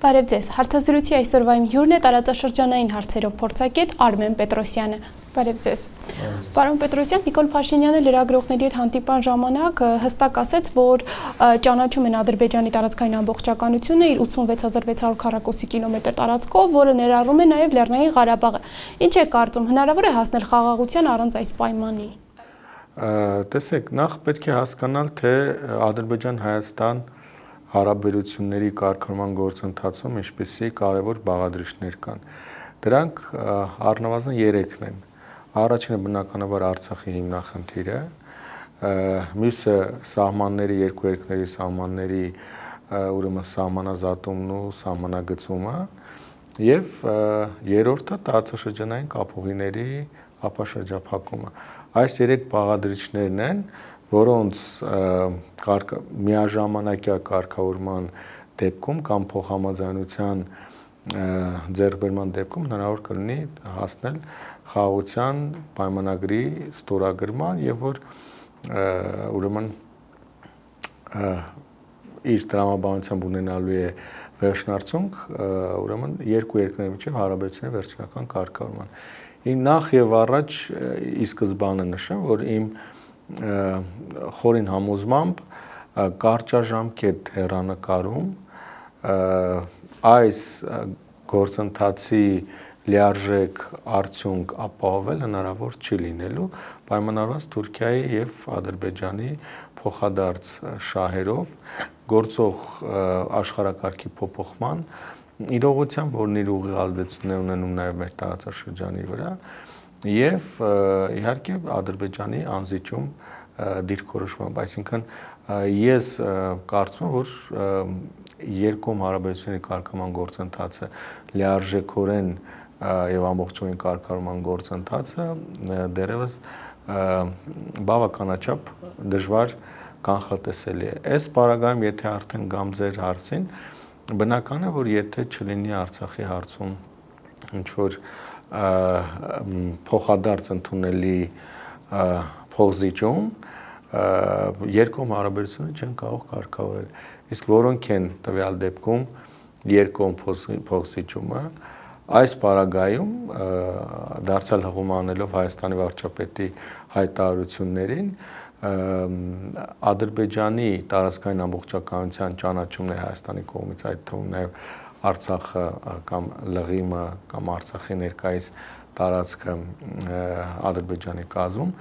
Բարև ձեզ, հարցազրույցի այսօրվա իմ հյուրն է տարածաշրջանային հարցերով փորձագետ Արմեն Պետրոսյանը։ Բարև ձեզ։ Պարոն Պետրոսյան, Նիկոլ Փաշինյանը լրագրողների հետ հանդիպման ժամանակ հստակ ասաց, որ ճանաչում են Ադրբեջանի տարածքային ամբողջականությունը իր 86600 քառակուսի կիլոմետր տարածքով, որը ներառում է նաև Լեռնային Ղարաբաղը։ Ինչ է կարծում, հնարավոր է հասնել խաղաղության առանց այս պայմանի։ Տեսեք, նախ պետք է հասկանալ, թե Ադրբեջան-Հայաստան հարաբերությունների կարգավորման գործընթացում ինչպիսի կարևոր բաղադրիչներ կան։ Դրանք առնվազն 3-ն են։ Առաջինը բնականաբար Արցախի հիմնախնդիրը, մյուսը սահմանների, երկու երկրների սահմանների ուրեմն սահմանազատումն ու սահմանագծումը, եւ երրորդը տարածաշրջանային կապուղիների ապաշրջափակումը։ Այս 3 բաղադրիչներն են, որոնց միաժամանակյա կարգավորման դեպքում կամ փոխհամաձայնության ձեռքբերման դեպքում հնարավոր կլինի հասնել խաղաղության պայմանագրի ստորագրման եւ որ ուրեմն իր տրամաբանությամբ ունենալու է վերջնարդյունք ուրեմն երկու երկրների միջև հարաբերությունների վերջնական կարգավորման։ Նախ եւ առաջ ի սկզբանե նշեմ, որ իմ խորին համոզմամբ կարճաժամկետ հեռանկարում այս գործընթացի լիարժեք արդյունք ապահովել հնարավոր չի լինելու պայմանավորված Թուրքիայի եւ Ադրբեջանի փոխադարձ շահերով գործող աշխարհակարգի փոփոխման իրողությամբ, որն իր ուղիղ ազդեցություններ ունենում նաև մեր տարածաշրջանի վրա եւ իհարկե Ադրբեջանի անզիջում դիրքորոշմամբ, այսինքն ես կարծում եմ, որ երկկողմ հարաբերությունների կարգավորման գործընթացը լիարժեքորեն եւ ամբողջովին կարգավորման գործընթացը դեռևս բավականաչափ դժվար կանխատեսելի է։ Այս պարագայում, եթե արդեն գամ ձեր հարցին, բնական է, որ եթե չլինի Արցախի հարցում ինչ որ փոխադարձ ընդունելի փոխզիջում, երկկողմ հարաբերությունները չեն կարող կարգավորել։ Իսկ որոնք են տվյալ դեպքում երկկողմ փոխզիջումը, այս պարագայում դարձյալ հղում անելով Հայաստանի վարչապետի հայտարարություններին Ադրբեջանի տարածքային ամբողջականության ճանաչումն է Հայաստանի կողմից, այդ թվում նաև Արցախը կամ Լղիմը կամ Արցախի ներկայիս տարածքը Ադրբեջանի կազմում,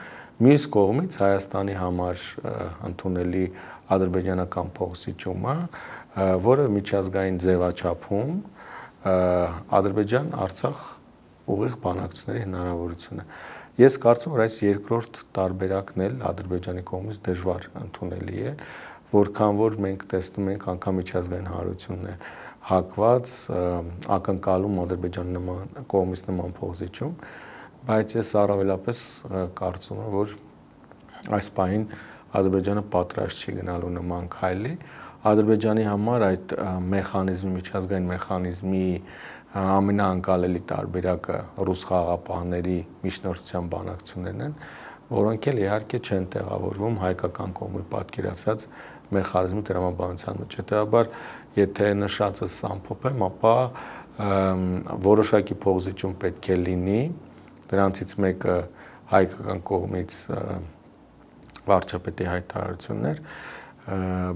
մյուս կողմից Հայաստանի համար ընդունելի ադրբեջանական փոխզիջումը, որը միջազգային ձևաչափում Ադրբեջան-Արցախ ուղիղ բանակցությունների հնարավորություն է։ Ես կարծում եմ, որ այս երկրորդ տարբերակն էլ Ադրբեջանի կողմից դժվար ընդունելի է, որքան որ մենք տեսնում ենք անգամ միջազգային հանրությունն է հակված ակնկալում Ադրբեջանի կողմից նման փոխզիջում, բայց ես առավելապես կարծում եմ, որ այս պահին Ադրբեջանը պատրաստ չի գնալու նման քայլի։ Ադրբեջանի համար այդ մեխանիզմի, միջազգային մեխանիզմի ամենաանկալելի տարբերակը ռուս խաղաղապահների միջնորդության բանակցություններն են, որոնք էլ իհարկե չեն տեղավորվում հայկական կողմի պատկերացած մեխանիզմի տրամաբանության մեջ։ Հետևաբար, եթե նշածս ամփոփեմ, ապա որոշակի փոխզիջում պետք է լինի, դրանցից մեկը հայկական կողմից վարչապետի հայտարարություններ,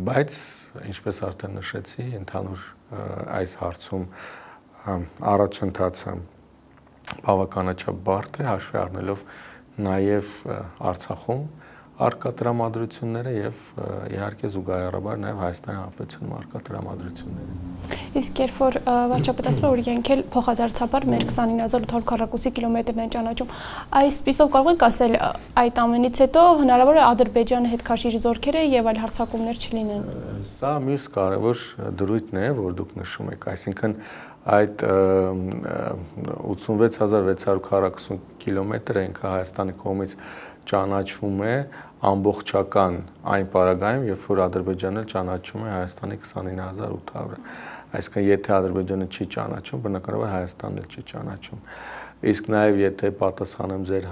բայց ինչպես արդեն նշեցի, ընդհանուր այս հարցում առաջընթացը բավականաչափ բարդ է, հաշվի առնելով նաև Արցախում առկա տրամադրությունները եւ իհարկե զուգահեռաբար նաև Հայաստանի Հանրապետությունում առկա տրամադրությունները։ Իսկ երբ որ վարչապետը ասում է, որ իրենք էլ փոխադարձաբար մեր 29800 քառակուսի կիլոմետրն են ճանաչում, այս պիսով կարող ենք ասել այդ ամենից հետո հնարավոր է Ադրբեջանը հետ քաշի զորքերը եւ այլ հարձակումներ չլինեն։ Սա մյուս կարևոր դրույթն է, որ դուք նշում եք, այսինքն այդ 86600 քառակուսի կիլոմետրը ինքը Հայաստանի կողմից ճանաչվում է ամբողջական այն պարագայում, երբ որ Ադրբեջանը ճանաչում է Հայաստանի 29800-ը։ Այսինքն եթե Ադրբեջանը չի ճանաչում, բնականաբար Հայաստանն էլ չի ճանաչում։ Իսկ նաև եթե պատասխանեմ ձեր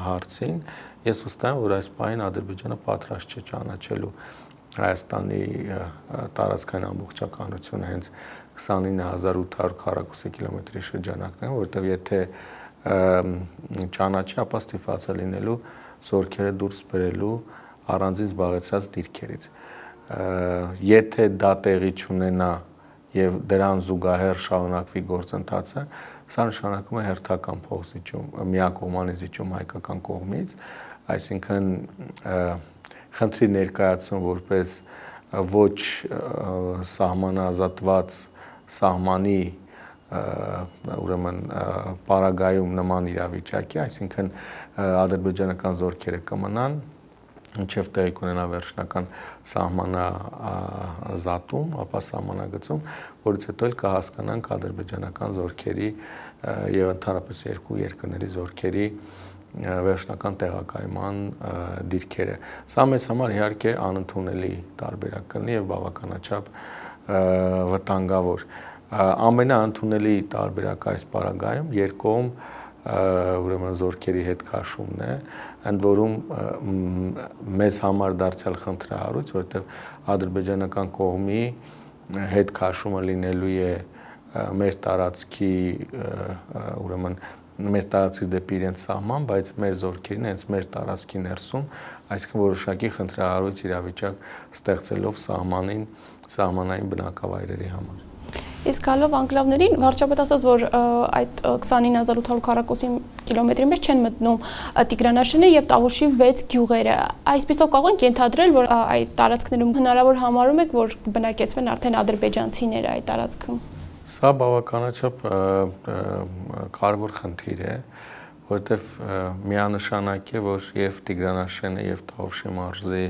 հարցին, ես վստահ եմ, որ այս պահին Ադրբեջանը պատրաստ չէ ճանաչելու Հայաստանի տարածքային ամբողջականությունը հենց 29800 քառակուսի կիլոմետրի շրջանակն է, որտեղ եթե ճանաչի, ապա ստիպված է լինելու զորքերը դուրս բերելու առանձին զբաղեցրած դիրքերից։ Եթե դա տեղի չունենա եւ դրան զուգահեռ շարունակվի գործընթացը, սա նշանակում է հերթական փոխզիջում, միակողմանի զիջում հայկական կողմից, այսինքն խնդրի ներկայացում որպես ոչ սահմանազատված սահմանի ուրեմն պարագայում նման իրավիճակի, այսինքն ադրբեջանական զորքերը կմնան մինչև տեղի կունենա վերջնական սահմանազատում, ապա սահմանագծում, որից հետո էլ կհասկանանք ադրբեջանական զորքերի եւ ընդհանրապես երկու երկրների զորքերի վերջնական տեղակայման դիրքերը։ Սա մեզ համար իհարկե անընդունելի տարբերակ կլինի եւ բավականաչափ վտանգավոր։ Ամենաընդունելի տարբերակը այս պարագայում երկկողմ ուրեմն զորքերի հետ քաշումն է, ընդ որում մեզ համար դարձյալ խնդրահարույց, որովհետև ադրբեջանական կողմի հետ քաշումը լինելու է մեր տարածքի ուրեմն մեր տարածքից դեպի իրենց սահման, բայց մեր զորքերին հենց մեր տարածքի ներսում, այսինքն որոշակի խնդրահարույց իրավիճակ ստեղծելով սահմանային բնակավայրերի համար։ Իսկ գալով անկլավներին, վարչապետ ասաց, որ այդ 29800 քառակուսի կիլոմետրի մեջ չեն մտնում Տիգրանաշենը եւ Տավուշի 6 գյուղերը։ Այսպիսով կարող ենք ենթադրել, որ այդ տարածքներում հնարավոր համարում եք, որ բնակեցվեն արդեն ադրբեջանցիները այդ տարածքում։ Սա բավականաչափ կարևոր խնդիր է, որովհետեւ միանշանակ է, որ եւ Տիգրանաշենը եւ Տավուշի մարզի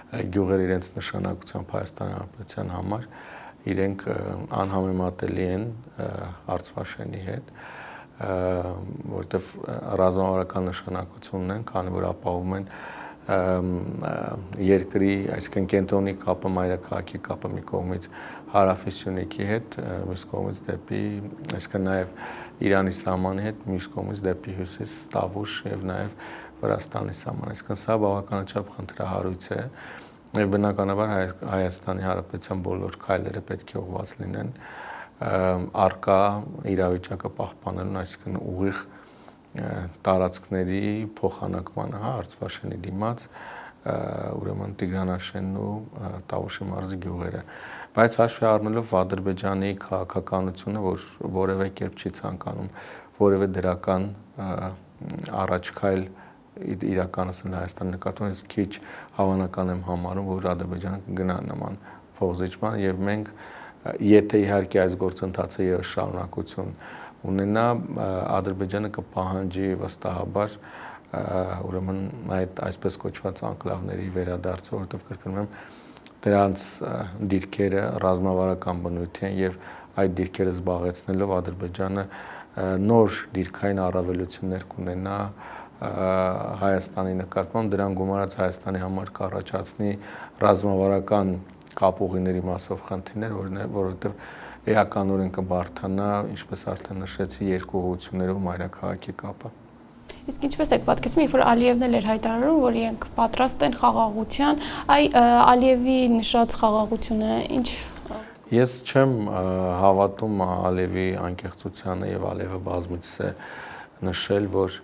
գյուղերը իրենց նշանակությամբ Հայաստանի Հանրապետության համար իրենք անհամեմատելի են Արցվաշենի հետ, որտեղ ռազմավարական նշանակություն ունեն, քանի որ ապահովում են երկրի, այսինքն կենտրոնի կապը, մայրաքաղաքի կապը մի կողմից Հարավի Սյունիքի հետ, մյուս կողմից դեպի, այսինքն նաև Իրանի սահմանի հետ, մյուս կողմից դեպի հյուսիս Տավուշ եւ նաև Վրաստանի սահման, այսինքն սա բավականաչափ խնդրահարույց է։ Եվ բնականաբար Հայաստանի Հանրապետության բոլոր քայլերը պետք է ուղղված լինեն առկա իրավիճակը պահպանելուն, այսինքն ուղիղ տարածքների փոխանակմանը, Արցվաշենի դիմաց, ուրեմն Տիգրանաշենն ու Տավուշի մարզի գյուղերը։ Բայց հաշվի առնելով Ադրբեջանի քաղաքականությունը, որ որևէ կերպ չի ցանկանում որևէ դրական առաջքայլ իրականացնել Հայաստանի նկատմամբ, քիչ հավանական եմ համարում, որ Ադրբեջանը կգնա նման փոխզիջման եւ մենք եթե իհարկե այս գործընթացը եւս շարունակություն ունենա, Ադրբեջանը կպահանջի վստահաբար ուրեմն այդ այսպես կոչված անկլավների վերադարձը, որովհետեւ կրկնում եմ դրանց դիրքերը ռազմավարական բնույթ են եւ այդ դիրքերը զբաղեցնելով Ադրբեջանը նոր դիրքային առավելություններ կունենա Հայաստանի նկատմամբ, դրան գումարած Հայաստանի համար կառաջացնի ռազմավարական կապուղիների մասով խնդիրներ, որովհետև էականորեն կբարթանա, ինչպես արդեն նշեցի, երկու ուղղություններով մայրաքաղաքի կապը։ Իսկ ինչպես եք պատկերացնում, երբ որ Ալիևն էլ էր հայտարարում, որ իրենք պատրաստ են խաղաղության, Ալիևի նշած խաղաղությունը ինչ։ Ես չեմ հավատում Ալիևի անկեղծությանը եւ Ալիևը բազմիցս է նշել, որ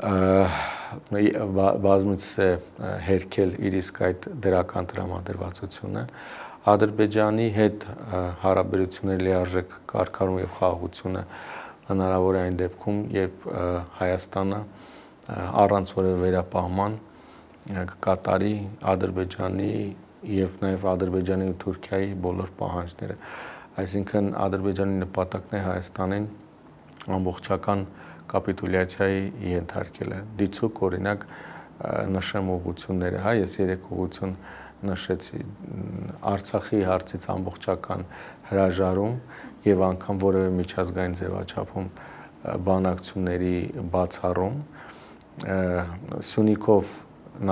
բազմիցս է հերքել իր իսկ այդ դրական տրամադրվածությունը Ադրբեջանի հետ հարաբերությունների լիարժեք կարգառում եւ խաղաղությունը հնարավոր է այն դեպքում, երբ Հայաստանը առանց որևէ վերապահման կկատարի Ադրբեջանի եւ նաեւ Ադրբեջանի ու Թուրքիայի բոլոր պահանջները, այսինքն Ադրբեջանի նպատակն է Հայաստանին ամբողջական կապիտուլյացիայի ենթարկելը։ Դիցուք օրինակ նշեմ ուղղությունները, ես 3 ուղղություն նշեցի, Արցախի հարցից ամբողջական հրաժարում եւ անգամ որևէ միջազգային ձևաչափում բանակցությունների բացառում, Սյունիքով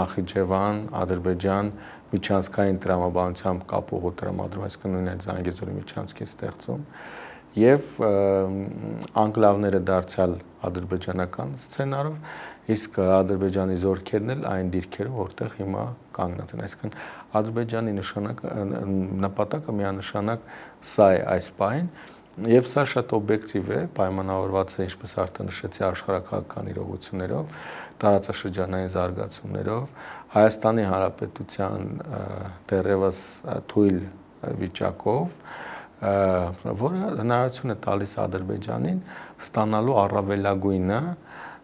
Նախիջևան, Ադրբեջան միջանցքային տրամաբանությամբ կապուղու տրամադրում, այսինքն նույն այդ Զանգեզուրի միջանցքի ստեղծում եւ անկլավները դարձյալ ադրբեջանական սցենարով իսկ Ադրբեջանի զորքերն էլ այն դիրքերում, որտեղ հիմա կանգնած են, այսինքն Ադրբեջանի նպատակը միանշանակ սա է այս պահին, եւ սա շատ օբյեկտիվ է, պայմանավորված է, ինչպես արդեն նշեցի, աշխարհակահաղական իրողություններով, տարածաշրջանային զարգացումներով, Հայաստանի Հանրապետության դեռևս թույլ վիճակով, որը հնարավորություն է տալիս Ադրբեջանին ստանալու առավելագույնը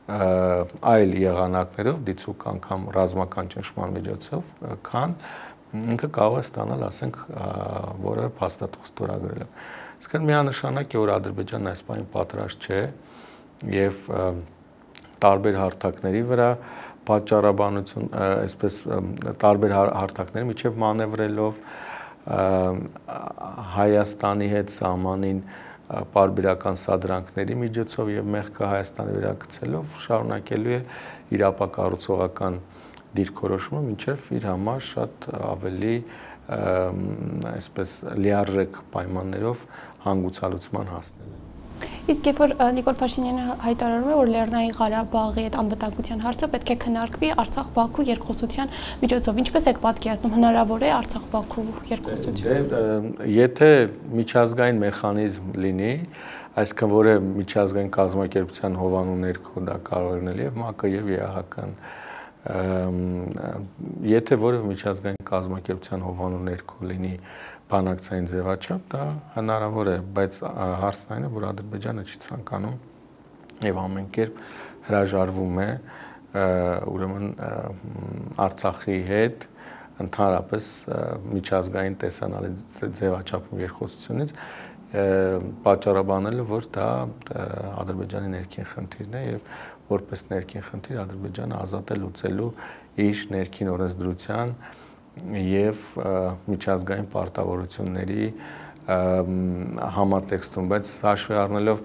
այլ եղանակներով, դիցուք անգամ ռազմական ճնշման միջոցով, քան ինքը կարող է ստանալ, ասենք, որևէ փաստաթուղթ ստորագրելով։ Իսկական միանշանակ է, որ Ադրբեջանն այս պահին պատրաստ չէ եւ տարբեր հարթակների վրա պատճառաբանություն, այսպես տարբեր հարթակների միջև մանևրելով Հայաստանի հետ սահմանին պարբերական սադրանքների միջոցով եւ մեղքը Հայաստանի վրա գցելով շարունակելու է իր ապակառուցողական դիրքորոշումը, մինչեւ իր համար շատ ավելի այսպես լիարժեք պայմաններով հանգուցալուծման հասնելը։ Իսկ երբ որ Նիկոլ Փաշինյանը հայտարարում է, որ Լեռնային Ղարաբաղի այդ անվտանգության հարցը պետք է քննարկվի Արցախ-Բաքու երկխոսության միջոցով, ինչպես եք պատկերացնում, հնարավոր է Արցախ-Բաքու երկխոսություն։ Եթե միջազգային մեխանիզմ լինի, այսինքն որը միջազգային կազմակերպության հովանու ներքո դա կարող է լինել եւ ՄԱԿ-ը եւ ԵԱՀԿ-ն, եթե որևէ միջազգային կազմակերպության հովանու ներքո լինի բանակցային ձևաչափ, դա հնարավոր է, բայց հարցն այն է, որ Ադրբեջանը չի ցանկանում եւ ամեն կերպ հրաժարվում է ուրեմն Արցախի հետ ընդհանրապես միջազգային տեսանալի ձևաչափում երկխոսությունից պատճառաբանելը, որ դա Ադրբեջանի ներքին խնդիրն է եւ որպես ներքին խնդիր Ադրբեջանը ազատ է լուծելու իր ներքին օրենսդրության եւ միջազգային պարտավորությունների համատեքստում, բայց հաշվի առնելով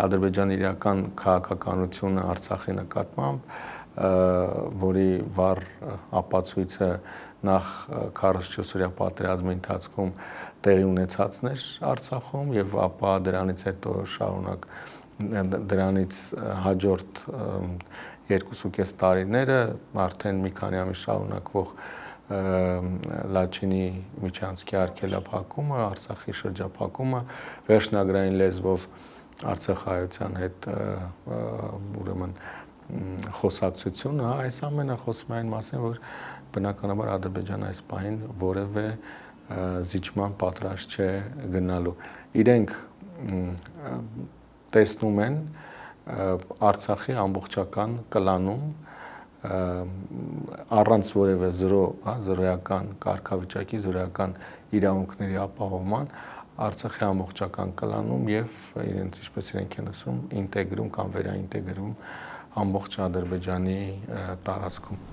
Ադրբեջանի իրական քաղաքականությունը Արցախի նկատմամբ, որի վառ ապացույցը նախ 44-օրյա պատերազմի ընթացքում տեղի ունեցածն էր Արցախում եւ ապա դրանից հետո շարունակ դրանից հաջորդ 2.5 տարիները արդեն մի քանի ամիս շարունակվող Լաչինի միջանցքի արգելափակումը, Արցախի շրջափակումը, վերջնագրային լեզվով Արցախայության հետ ուրեմն խոսակցությունը, այս ամենը խոսում է այն մասին, որ բնականաբար Ադրբեջանը այս պահին որևէ զիջման պատրաստ չէ գնալու։ Իրենք տեսնում են Արցախի ամբողջական կլանում առանց որևէ զրոյական կարգավիճակի, զրոյական իրավունքների ապահովման Արցախի ամբողջական կլանում եւ իրենց ինչպես իրենք են ասում, ինտեգրում կամ վերաինտեգրում ամբողջ Ադրբեջանի տարածքում։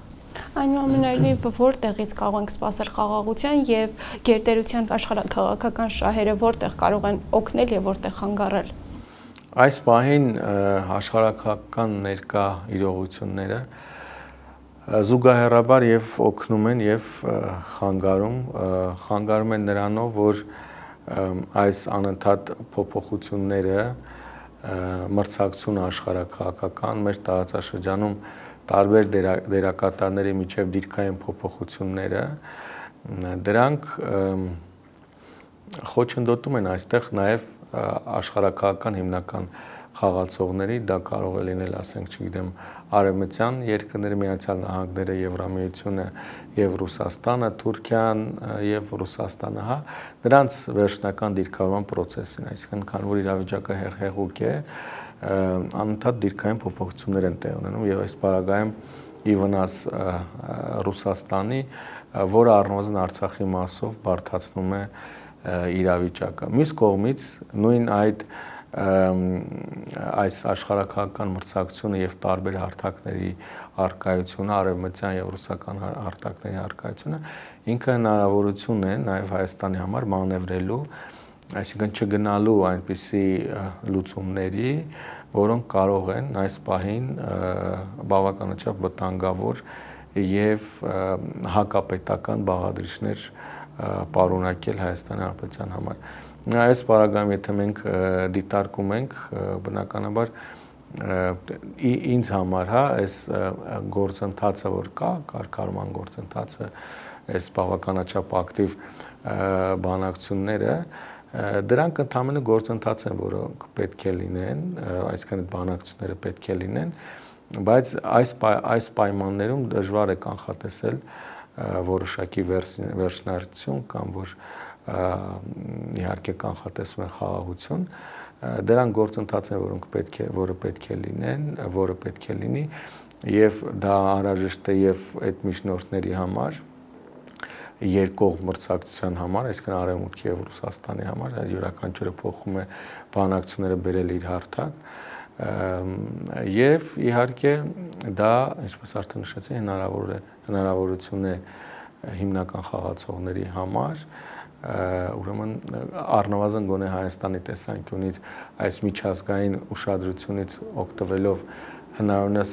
Այնուամենայնիվ, որտեղից կարող ենք սպասել խաղաղության եւ գերտերության աշխարհաքաղաքական շահերը որտեղ կարող են օգնել եւ որտեղ խանգարել։ Այս պահին աշխարհաքաղաքական ներկա իրողությունները զուգահեռաբար եւ օգնում են եւ խանգարում են նրանով, որ այս անընդհատ փոփոխությունները մրցակցությունը աշխարհաքաղաքական մեր տարածաշրջանում տարբեր դերակատարների միջև դիրքային փոփոխությունները դրանք խոչընդոտում են այստեղ նաև աշխարհաքաղաքական հիմնական խաղացողների, դա կարող է լինել, ասենք, չգիտեմ, արևմտյան երկրները, Միացյալ Նահանգները, Եվրամիությունը եւ Ռուսաստանը, Թուրքիան եւ Ռուսաստանը, հա, նրանց վերջնական դիրքավորման process-ին, այսինքն քան որ իրավիճակը հեղուկ է, անընդհատ դիրքային փոփոխություններ են տեղ ունենում եւ այս պարագայում ի վնաս Ռուսաստանի, որը առնվազն Արցախի մասով բարդացնում է իրավիճակը։ Մյուս կողմից նույն այս աշխարհաքաղաքական մրցակցությունը եւ տարբեր հարթակների արկայությունը, արևմտյան եւ ռուսական հարթակների արկայությունը ինքը հնարավորություն է նաեւ Հայաստանի համար մանևրելու, այսինքն չգնալու այնպիսի լուծումների, որոնք կարող են այս պահին բավականաչափ վտանգավոր եւ հակապետական բաղադրիչներ պարունակել Հայաստանի Հանրապետության համար։ Այս պարագայում եթե մենք դիտարկում ենք, բնականաբար ինձ համար, հա, այս գործընթացը, որ կա, կարգավորման գործընթացը, այս բավականաչափ ակտիվ բանակցությունները, դրանք ընդհանրապես գործընթաց են, որոնք պետք է լինեն, այսինքն այդ բանակցությունները պետք է լինեն, բայց այս պայմաններում դժվար է կանխատեսել որոշակի վերջնարարություն կամ որ իհարկե կանխատեսում են խաղաղություն, դրանք գործընթաց են, որը պետք է լինի եւ դա անհրաժեշտ է եւ այդ միջնորդների համար, երկկողմ մրցակցության համար, այսինքն Արևմուտքի եւ Ռուսաստանի համար, յուրաքանչյուրը փոխում է բանակցությունները բերել իր հարթակ եւ իհարկե դա, ինչպես արդեն նշեցի, հնարավորություն է հիմնական խաղացողների համար, ուրեմն առնվազն գոնե Հայաստանի տեսանկյունից այս միջազգային ուշադրությունից օգտվելով հնարավորինս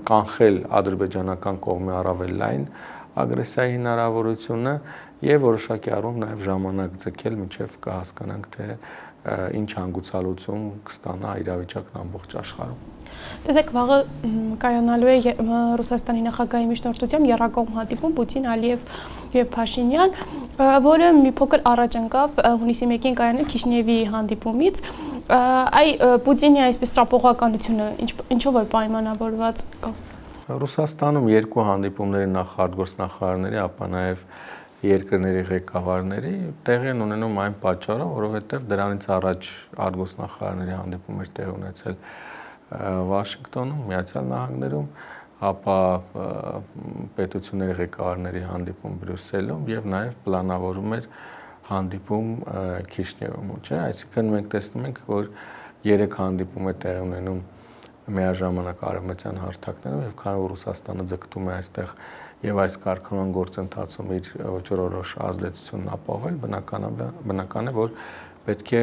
կանխել ադրբեջանական կողմի առավել լայն ագրեսիայի հնարավորությունը եւ որոշակի առումով նաեւ ժամանակ ձգել մինչեւ կհասկանանք թե ինչ հանգուցալուծում կստանա իրավիճակն ամբողջ աշխարհում։ Տեսեք, վաղը կայանալու է Ռուսաստանի նախագահի միջնորդությամբ եռակողմ հանդիպում Պուտին, Ալիև եւ Փաշինյան, որը մի փոքր առաջ ընկավ հունիսի 1-ին կայանալ Քիշնևի հանդիպումից։ Այ Պուտինի այսպես ճապողականությունը ինչով է պայմանավորված։ Ռուսաստանում երկու հանդիպումների արտգործնախարարների, ապա նաեւ երկրների ղեկավարների տեղի են ունենում այն պատճառով, որովհետեւ դրանից առաջ արտգործնախարարների հանդիպում էր տեղի ունեցել Վաշինգտոնում, Միացյալ Նահանգներում, ապա պետությունների ղեկավարների հանդիպում Բրյուսելում եւ նաեւ պլանավորում էր հանդիպում Քիշնևում, չէ՞, այսինքն մենք տեսնում ենք, որ 3 հանդիպում է տեղի ունենում միաժամանակ արևմտյան հարթակներում եւ քանի որ Ռուսաստանը ձգտում է այստեղ եւ այս կարգավորման գործընթացում իր ոչռորոշ ազդեցությունն ապահովել, բնական է, որ պետք է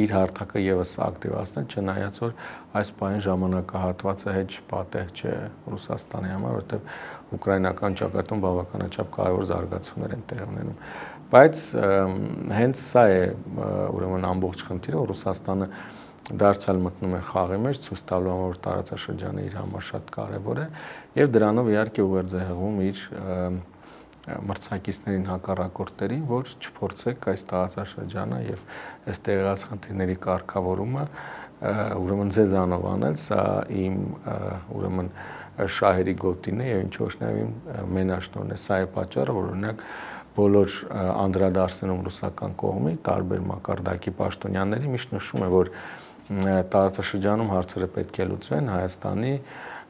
իր հարթակը եւս ակտիվացնել, չնայած որ այս պահին ժամանակահատվածը հեչ պատեհ չէ Ռուսաստանի համար, որովհետեւ ուկրաինական ճակատում բավականաչափ կարևոր զարգացումներ են տեղի ունենում։ Բայց հենց սա է ուրեմն ամբողջ խնդիրը, որ Ռուսաստանը դարձյալ մտնում է խաղի մեջ, ցույց տալու համար, որ տարածաշրջանը իր համար շատ կարևոր է եւ դրանով իհարկե ուղերձեղում իր մրցակիցներին հակառակորդներին, որ չփորձեք այս տարածաշրջանը եւ այս տեղած խնդիրների կարգավորումը ուրեմն ձեզանով անել, սա իմ ուրեմն շահերի գոտին է եւ ինչ ոչ նաեւ իմ մենաշնորհն է, սա է պատճառը, որ օրինակ բոլոր անդրադարձներում ռուսական կողմի տարբեր մակարդակի պաշտոնյաների միշտ նշում է, որ տարածաշրջանում հարցերը պետք է լուծվեն Հայաստանի,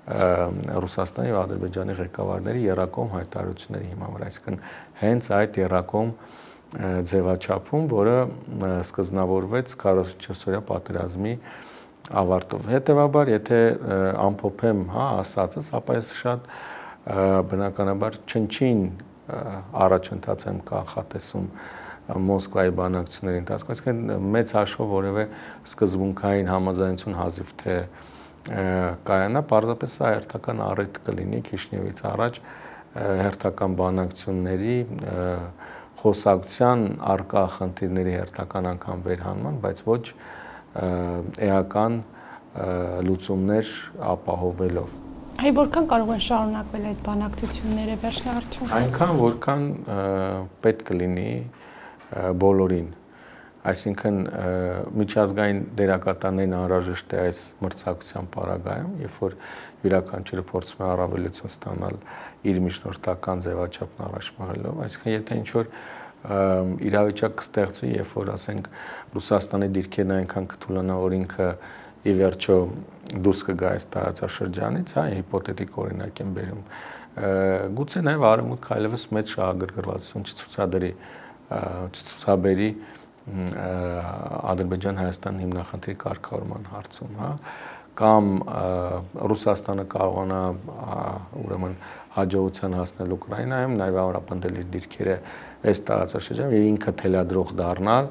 Ռուսաստանի եւ Ադրբեջանի ղեկավարների եռակողմ հայտարարությունների հիման վրա, այսինքն հենց այդ եռակողմ ձևաչափում, որը սկզբնավորվեց 44-օրյա պատերազմի ավարտով։ Հետևաբար, եթե ամփոփեմ, հա, ասածս, ապա ես շատ բնականաբար չնչին առաջընթաց եմ կանխատեսում Մոսկվայի բանակցությունների ընթացքում, այսինքն մեծ հաշվով որևէ սկզբունքային համաձայնություն հազիվ թե կայանա, պարզապես սա հերթական առիթ կլինի Քիշնևից առաջ հերթական բանակցությունների խոսակցության արկա խնդիրների հերթական անգամ վերհանման, բայց ոչ էական լուծումներ ապահովելով։ Այ որքան կարող են շարունակվել այս բանակցությունները վերջնարդյունքում։ Այնքան, որքան պետք կլինի բոլորին, այսինքն միջազգային դերակատարներին անհրաժեշտ է այս մրցակցության պարագայում, երբ որ յուրաքանչյուրը փորձում է առավելություն ստանալ իր միջնորդական ձևաչափն առաջ մղելով, այսինքն եթե ինչ-որ իրավիճակ կստեղծվի, երբ որ ասենք Ռուսաստանի դիրքերն այնքան կթուլանա, որ ինքը ի վերջո դուրս կգա այս տարածաշրջանից, հա, հիպոթետիկ օրինակ եմ բերում, գուցե նաև Արևմուտքը այլևս մեծ շահագրգռվածություն չցուցաբերի Ադրբեջան-Հայաստան հիմնախնդրի կարգավորման հարցում, հա, կամ Ռուսաստանը կարողանա ուրեմն հաջողության հասնել Ուկրաինայում, նաև ամրապնդել իր դիրքերը այս տարածաշրջանում եւ ինքը թելադրող դառնալ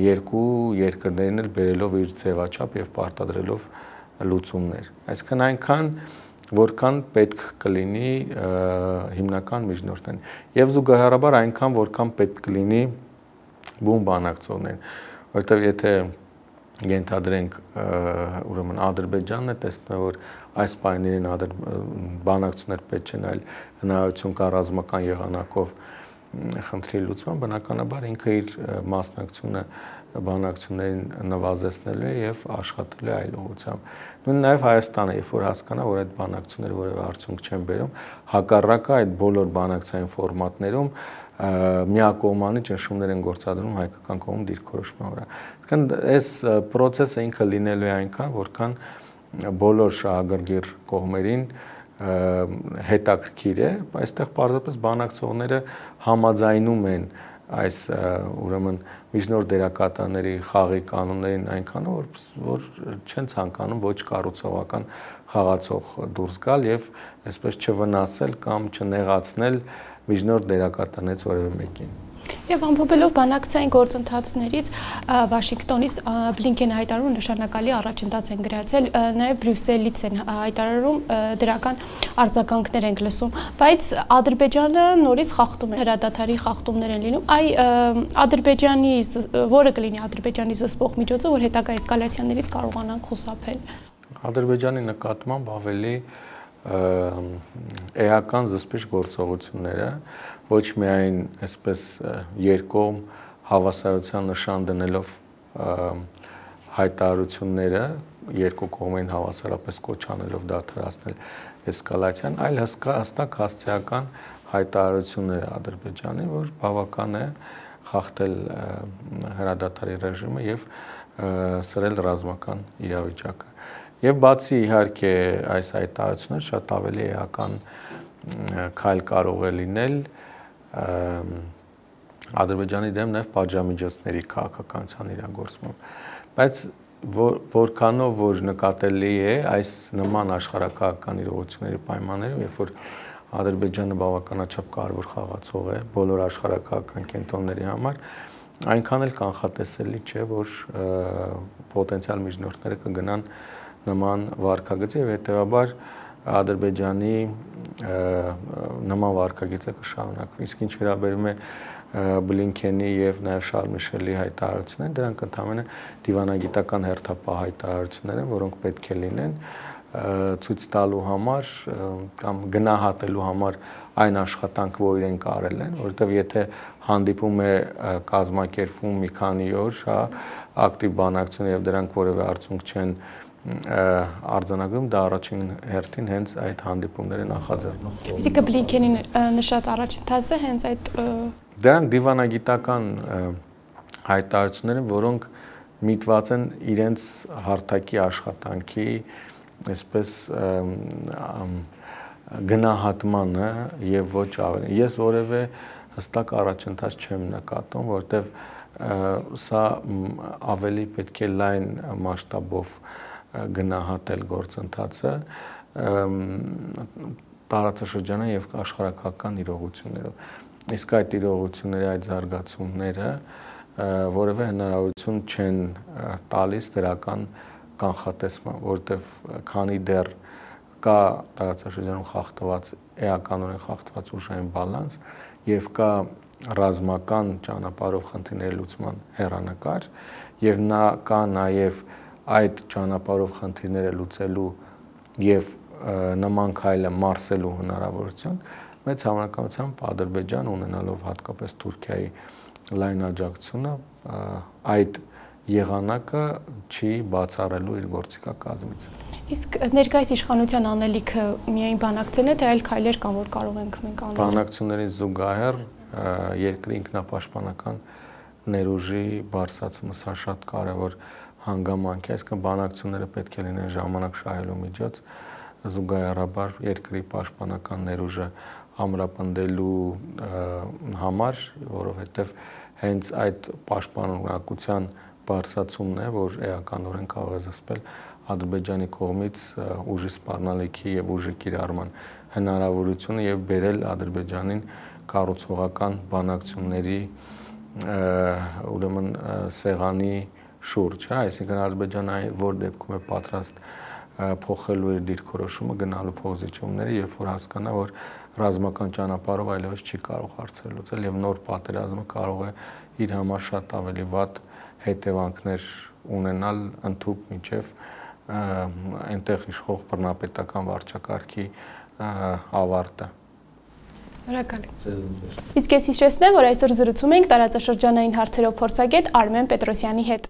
երկու երկրներին էլ բերելով իր ձևաչափ եւ պարտադրելով լուծումներ։ Այսինքն այնքան որքան պետք կլինի հիմնական միջնորդներին եւ զուգահեռաբար այնքան որքան պետք կլինի բուն բանակցողներին, որովհետեւ եթե ենթադրենք ուրեմն Ադրբեջանն է տեսնում որ այս պայմաններին բանակցություններ պետք չեն այլ հնարավորություն կա ռազմական եղանակով խնդրի լուծման բնականաբար ինքը իր մասնակցությունը բանակցություններին նվազեցնելու է եւ աշխատելու է այլ ուղղությամբ նույն նաեւ Հայաստանը երբ որ հասկանա որ այդ բանակցությունները որևէ արդյունք չեն բերում հակառակը այդ բոլոր բանակցային ֆորմատներում միակողմանի ճնշումներ են գործադրում հայկական կողմում դիրքորոշման վրա։ Այսինքն այս process-ը ինքը լինելու է այնքան, որքան բոլոր շահագրգիռ կողմերին հետաքրքիր է, այստեղ պարզապես բանակցողները համաձայնում են այս ուրեմն միջնորդ դերակատարների խաղի կանոններին այնքան որ չեն ցանկանում ոչ կառուցողական խաղացող դուրս գալ եւ այսպես չվնասել կամ չնեղացնել միջնորդ դերակատարներից որևէ մեկին։ Եվ ամփոփելով բանակցային գործընթացներից Վաշինգտոնից Բլինքենը հայտարարում նշանակալի առաջընթաց են գրացել, նաև Բրյուսելից են հայտարարում դրական արձագանքներ ենք լսում, բայց Ադրբեջանը նորից խախտում է, հրադադարի խախտումներ են լինում, Ադրբեջանի որը կլինի Ադրբեջանի զսպող միջոցը, որ հետագա էսկալացիաներից կարողանան խուսափել։ Ադրբեջանի նկատմամբ ավելի էական զսպիչ գործողությունները ոչ միայն այսպես երկկողմ հավասարության նշան դնելով հայտարարությունները երկու կողմերին հավասարապես կոչ անելով դադարեցնել էսկալացիան, այլ հստակ հասցեական հայտարարություններ Ադրբեջանի, որ բավական է խախտել հրադադարի ռեժիմը եւ սրել ռազմական իրավիճակը։ Եվ բացի իհարկե այս հայտարարությունները շատ ավելի էական քայլ կարող է լինել Ադրբեջանի դեմ նաև պատժամիջոցների քաղաքականության իրագործմամբ, բայց որքանով որ նկատելի է այս նման աշխարհակաղակական իրողությունների պայմաններում, երբ որ Ադրբեջանը բավականաչափ կարևոր խաղացող է բոլոր աշխարհակաղակական կենտրոնների համար, այնքան էլ կանխատեսելի չէ, որ պոտենցիալ միջնորդները կգնան նման վարկագծի եւ հետեւաբար Ադրբեջանի նման վարկագիծը կշարունակվի։ Իսկ ինչ վերաբերում է Բլինքենի եւ նաեւ Շարլ Միշելի հայտարարություններին, դրանք ընդհանրապես դիվանագիտական հերթապահ հայտարարություններ են, որոնք պետք է լինեն ցույց տալու համար կամ գնահատելու համար այն աշխատանքը, որ իրենք արել են, որովհետեւ եթե հանդիպում է կազմակերպվում մի քանի օր, հա, ակտիվ բանակցություն եւ դրանք որևէ արդյունք չեն արձանագրում, դա առաջին հերթին հենց այդ հանդիպումները նախաձեռնում։ Իսկ Բլինքենի նշած առաջընթացը հենց այդ դրանք դիվանագիտական հայտարարություններ են, որոնք միտված են իրենց հարթակի աշխատանքի, այսպես գնահատմանը եւ ոչ ավելի։ Ես որևէ հստակ առաջընթաց չեմ նկատում, որովհետեւ սա ավելի պետք է լայն մասշտաբով գնահատել գործընթացը տարածաշրջանային եւ աշխարհակաղակական իրողություններով։ Իսկ այդ իրողությունների այդ զարգացումները որևէ հնարավորություն չեն տալիս դրական կանխատեսման, որովհետեւ քանի դեռ կա տարածաշրջանում խախտված էականորեն խախտված ուժային բալանս եւ կա ռազմական ճանապարհով խնդիրների լուծման հեռանկար եւ կա նաեւ այդ ճանապարհով խնդիրները լուծելու եւ նման քայլը մարսելու հնարավորություն մեծ հավանականությամբ Ադրբեջան ունենալով հատկապես Թուրքիայի լայն աջակցությունը այդ եղանակը չի բացառելու իր գործիքակազմից։ Իսկ ներկայիս իշխանության անելիքը միայն բանակցելն է, թե այլ քայլեր կան, որ կարող ենք մենք անել։ Բանակցությունների զուգահեռ երկրի ինքնապաշտպանական ներուժի բարձրացումը սա շատ կարևոր հանգամանք է, այսինքն բանակցությունները պետք է լինեն ժամանակ շահելու միջոց, զուգահեռաբար երկրի պաշտպանական ներուժը ամրապնդելու համար, որովհետև հենց այդ պաշտպանունակության բարձրացումն է, որ էականորեն կարող է զսպել Ադրբեջանի կողմից ուժի սպառնալիքի եւ ուժի կիրառման հնարավորությունը եւ բերել Ադրբեջանին կառուցողական բանակցությունների ուրեմն սեղանի շուրջ, հա, այսինքն Ադրբեջանը որ դեպքում է պատրաստ փոխելու իր դիրքորոշումը, գնալու փոխզիջումները, երբ որ հասկանա, որ ռազմական ճանապարհով այլևս չի կարող հարցեր լուծել եւ նոր պատերազմը կարող է իր համար շատ ավելի վատ հետևանքներ ունենալ ընդհուպ մինչև այնտեղ իշխող բռնապետական վարչակարգի ավարտը։ Շնորհակալ եմ։ Իսկ ես հիշեցնեմ, որ այսօր զրուցում ենք տարածաշրջանային հարցերով փորձագետ Արմեն Պետրոսյանի հետ։